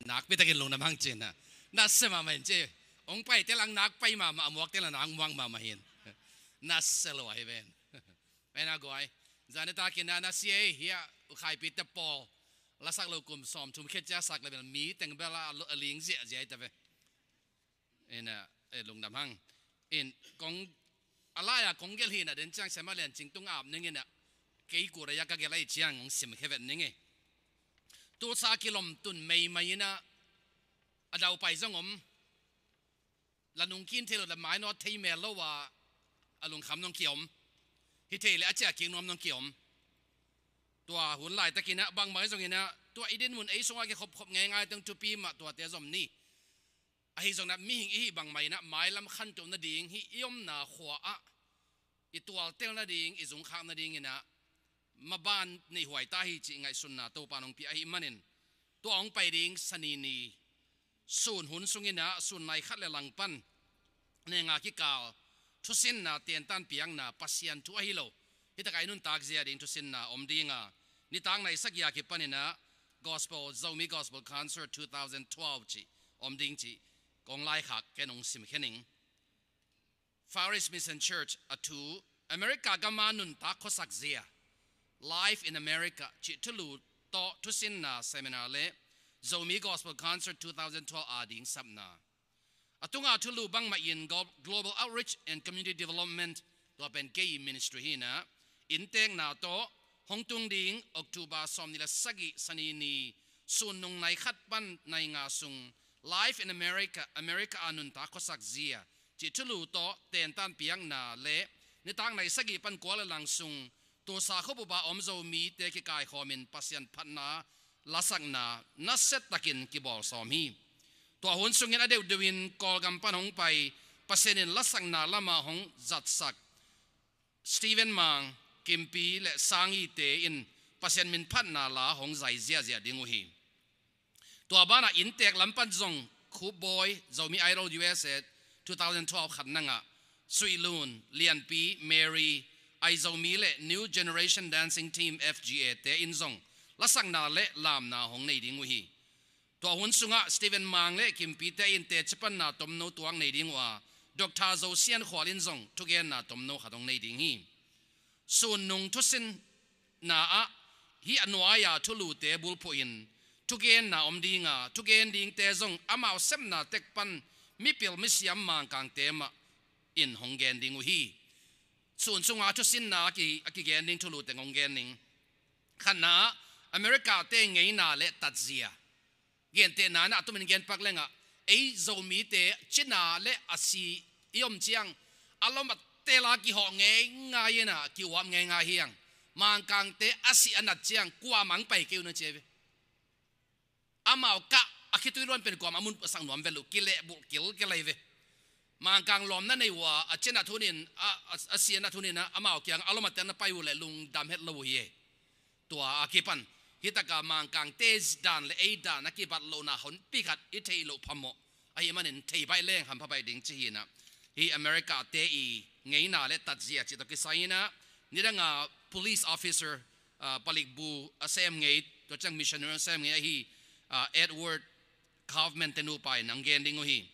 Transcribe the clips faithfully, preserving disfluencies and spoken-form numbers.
Nakpi takin lungdam hang cihna. Nasia mahmah in ci. Hong paite lang nakpai mahmah, a muakte lang nakmuak mahmah hi. Nasia lo ahi ven. Pen a guai. Zan nitak in a nasia hi a, u Khaipite pawl. Lasak lo kum sawmthum khit ciang sak le bel mi teng bel a lo, a ling ziahziah hi ta ve. Ina, eh, lungdam hang. In, kong, a lai-a kong gelh hi na den ciang sem a lian cing tung ap ning ina. Kei kura ya ka gelh ahi ciang hong simkhia vet ning e. Tulsa kilawm tun meimai ina, a daupai zong om. La nungkin thei lo, la mainawt thei mel lo a, a lungkham nong kiom. Hi thei le a ciah kik nuam nong kiom. Tua hun laitakin a, bangmah zong ina, tua i dinmun ei sungah kikhopkhop ngeingai teng thupi mah tuate zom ni. Ahi zongin a mihing i hih bangmah in a mailam khantoh nading hih i omna khua ah i tualtel nading, i zungkhak nading in a maban neihhuai ta hi cih ngaihsunna Topa nong pia ahih manin tua hong pai ding Sani ni sun hun sungin a sun nai khat le langpan nenga kikal thusinna tentan piakna Pasian thu ahi lo. Hi takah i nuntak zia ding thusinna om ding a, nitak nai sagih a kipan in a Gospel, Zomi Gospel Concert two thousand twelve cih om ding cih kong laikhak ken hong simkhia ning. Far East Mission Church a thu, America gam a nuntak khuasak zia, Life in America cih thulu tawh thusinna seminar le Zomi Gospel Concert two thousand twelve a ding sapna. A tunga thulu bangmah in Glo-, Global Outreach and Community Development, tua pen kei ministry hi na, inntekna tawh hong tung ding October sawmnih le sagih Sani ni sun nung nai khat pan nai nga sung Life in America, America a nuntak khuasak zia cih thulu tawh tentan piakna le nitak nai sagih pan kua le lang sung Tulsa khuabup a om Zomite kikaikhawmin Pasian phatna lasakna nasia takin kibawl sawm hi. Tua hun sungin a deuhdeuh in Kawlgam pan hong pai, Pasian in lasakna lamah hong zatsak Stephen Mang, Kimpi le Sangite in Pasian min phatna la hong zai ziahziah ding uh hi. Tua banah inntek lam pan zong Khup Bawi, Zomi Idol U S A two thousand twelve khat nangah, Suih Lun, Lianpi, Mary, Aizomi le New Generation Dancing Team F G A te in zong lasakna le lamna hong nei ding uh hi. Tua hun sungah Stephen Mang le Kimpi te in teci panna tomno tuak nei ding uh a, Doctor Zo Sian Khual in zong thugenna tomno khat hong nei ding hi. Sun nung thusinna ah hih a nuai-a thulute bulphuhin thugenna om ding a, thugen dingte zong amau sepna tek pan mipil misiam Mangkangte mah in hong gen ding uh hi. Sun sunga thusinna a ki, a kigen ding thulute hong gen ning. Khatna ah America-te ngeina le tatzia. Gentehna in a tumin genpak lengah ei Zomite cina le a si i om ciang a lom a tel a kihawh ngeingai in a ki-uap ngeingai hi hang. Mangkangte a si a nat ciang kuamah hong pai kei un a ci hi ve. Amau kah a khitui luan pen kuamah a mun a sak nuam ve lo, kilehbulh kilkel hi ve. Mangkang lawmna nei uh a, a cina thunin a, a, a si a nat thunin a, amau kiang a lom a tel na pai uh leh lungdam het lo uh hi e. Tua a kipan hih taka Mangkangte dan le ei dan a kibat lohna honpi khat i theih loh phamawh ahih manin thei baih leng hampha baih ding ci hi na. Hih America-te i ngeina le tatzia cih tawh kisai in a, nidanga police officer, ah, palikbu a sem ngei, tua ciang missionary a sem ngei ahi, ah, Edward Kaufman te nupa in hong gen ding uh hi.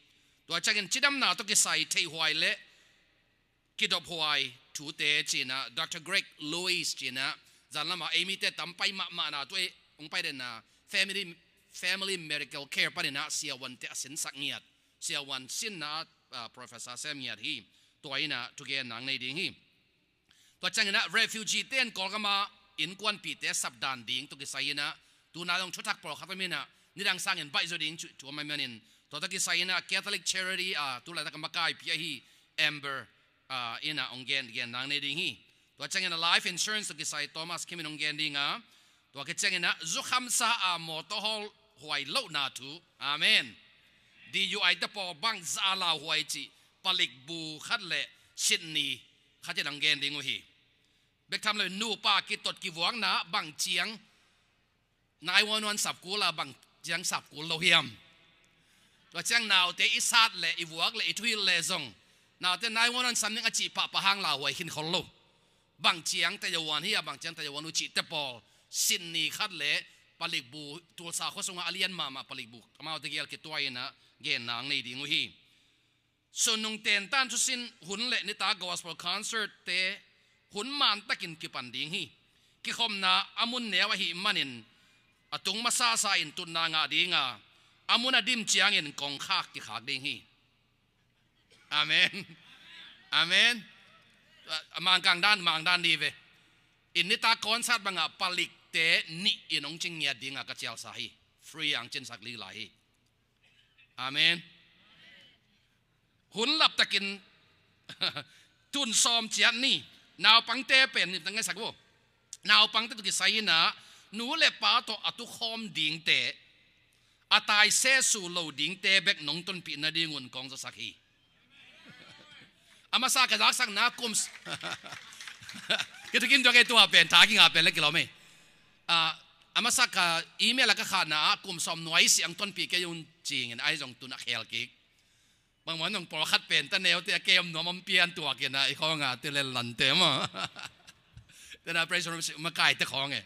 Tua ciangin cidamna tawh kisai theihhuai le kidophuai thute ci-in a, Doctor Greg Lewis ci-in a, zanlamah ei mite tam pai mahmahna, tua ei hong pai denna Family, Family Medical Care panin a siavuante a sinsak ngiat, siavuan sinna ah, professor sem ngiat hi. Tua in a thugenna hong nei ding hi. Tua ciangin a refugee-te in Kawlgam a innkuanpihte sapdan ding tawh kisai in a, tuna zong thuthak pawlkhat om in a, nidang sangin baih zaw ding thu, thu om ahih manin, tua tawh kisai in a Catholic Charity a tulaitak a makaipi ahi Amber, ah, in a hong gen, genna hong nei ding hi. Tua ciangin a life insurance tawh kisai Thomas Kim in hong gen ding a, tua khit ciangin a zukhamsa a mawtaw hawl huai lohna thu. Amen. D U I te pawl bangzah a lauhuai cih palikbu khat le Sydney khat in hong gen ding uh hi. Bek tham lo in nupa kitot kivuakna bang ciang nine one one sap kul a bang ciang sap kul lo hiam? Tua ciang naute i sat le i vuak le i thuhilh le zong naute nine one one sam ning a cih pahpah hang lauhuai khin khol lo. Bang ciang tayawan hi a, bang ciang tayawan uh cihte pawl Sydney khat le Palikbu, Tulsa khua sungah a lian mahmah palikbu amaute gel kituaina genna ang nei ding uh hi. Sunnung tentan thusin hun le nitak gospel concert te hun mantakin kipan ding hi. Kikhopna a mun neu ahih manin a tung masasa in tutna ngah dinga, a mun a dim ciangin kongkhak kikhak ding hi. Amen. Amen. A mangkang dan, mang dan di ve. In nitak concert bangah palikte nih in hong cing ngiat dinga ka cialsa hi. Free ang cinsak lila hi. Amen. Hun laptakin tun sawm ciat ni. Naupangte pen ni tangaisak vo. Naupangte tu kisai inah nu le pa tawh a tukhawm dingte, a tai sesu lo dingte bek nong tonpih nadingun kong zasak hi. A masa ka zaksakna kum kita kim tuak e tua pen tha kinga pen le kilawm e. A masa ka email a ka khahna ah kum sawm nuai siang tonpih kei un cingin ai zong tun a khel kik. Bangmah nong pawlkhat pen ta neute a kem nuam om pian tuakin a i khawnga ti le lante maw? Tena praise room makaite khawng e.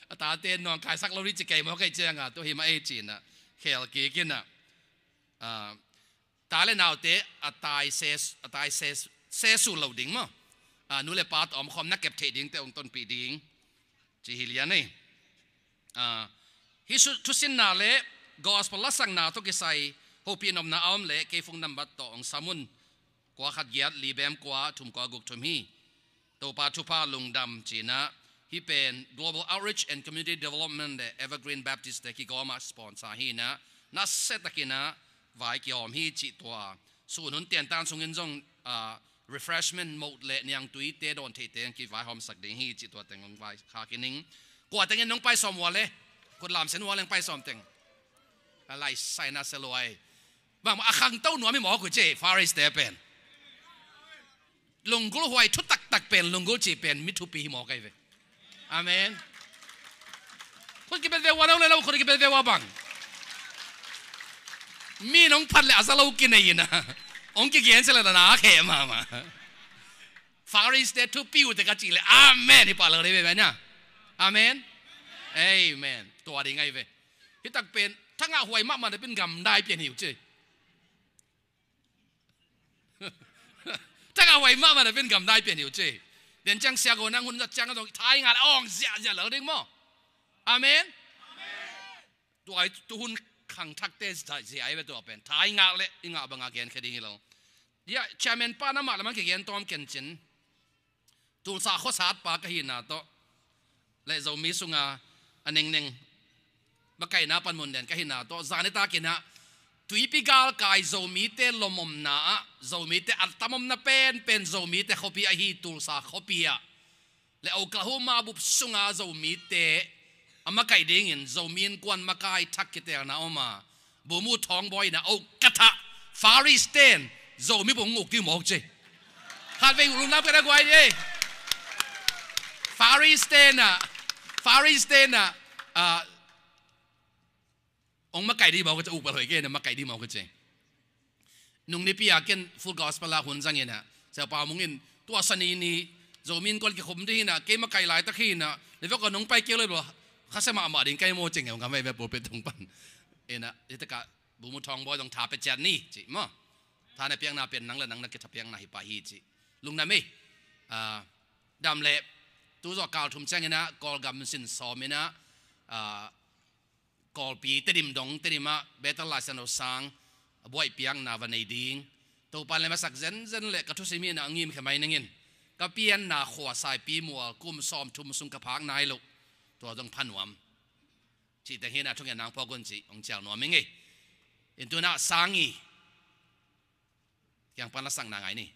A tate nuang kaisak lo ri ci kei maw kei cianga tu hi mah ei cina khel kik ina. Ta le naute a tai ses a tai ses sesu lo ding maw? Nu le pa tawh omkhawm na kep theih dingte hong tonpih ding ci hi lian ei. Hih thusinna le gospel lasakna tawh kisai hopih nopna a om le kei phone number tawh hong sam un. Kua khat giat li bem kua thum kua guk thum hi. Topa thupha lungdam cinah hih pen Global Outreach and Community Development le Evergreen Baptist te kigawma sponsor hinah nasia takinah vai kiawm hi cih tua. Sun hun tiantan sungin zong refreshment moh le niangtuite dawn theite kivaihawmsak ding hi cih tua teng hong vai kha kining. Kua tengin nong pai sawm ua le kut lamsen ua leng pai sawm teng. A lai saina seluai. Bang a khangto nuam hi mawk uh ci Faris te pen. Lunggulh huai thutaktak pen lunggulh cih pen mi thupi hi mawk ahi ve. Amen. Khut kibet ve ua lo le lo khut kibet ve ua bang. Mi nong phat le a za lo kinei ina hong kigen se le na khe mama. Faris te thupi uh te ka cih le amen hi pah lo dei ve ve nia. Amen. Amen. Tua ding ahi ve. Hitak pen thangah huai mahmah na pin gamdai pian hi uh ci. Thangah huai mahmah na pin gamdai pian hi uh ci. Den ciang sia go nang hun zat ciang a dong thai ngal awng ziahziah lo ding maw? Amen. Tua i tuhun khangthakte zia ai ve tua pen thai ngak le i ngah banga gen khe ding hi lo. Ia chairman pa na mah lamang kigen tawm kencin. Tulsa khuasat pa ka hina tawh le Zomi sunga a nengneng bakaina panmun den ka hina tawh zani takinah tuipi galkai Zomite lomomna ah Zomite a tamomna penpen Zomite khuapi ahi Tulsa khuapi ah le Oklahoma bup sunga Zomite a makaih dingin Zomi innkuan makai thak kitelna om a Bumu Thawngbawi in a oh ka thah Faris ten Zomi bung nguk ding mawk ci. Khat vei ulung lam ka na guai di ei. Faris ten a Faris ten a ong makaih ding mawk ka ci uk bal hoi ke na makaih ding mawk ka ci. Nung nipi a ken Full Gospel a hun zangin a Siapa Mung in tua sani ni Zomi innkuan kikhum ding hina kei makaih laitak hina le vek a nung pai keu le lo khase mahmah ding kai maw cing e ong ka mai ve pulpit tung pan. Ina itaka Bumu Thawngbawi dong tha pe ciat ni ci maw? Tha na piakna pen nang le nang na kitha piakna hi pa hi ci. Lungna mei dam le tu zawh kal thum ciang ina Kawlgam sin sawm ina Kawlpi Tedim dong Tedim ah Bethel Lai Siangtho sang a buaih piakna va nei ding. Topan le masak zenzen le ka thusim hi na a ngim khe mai ningin ka pianna khua Saipi mual kum sawm thum sung ka phak nai lo. Tua zong pha nuam. Cih teng hi na thungen nang phawk un cih hong cial nuam hi ngei. In tuna sang i kiang pan la sang na ngai ni.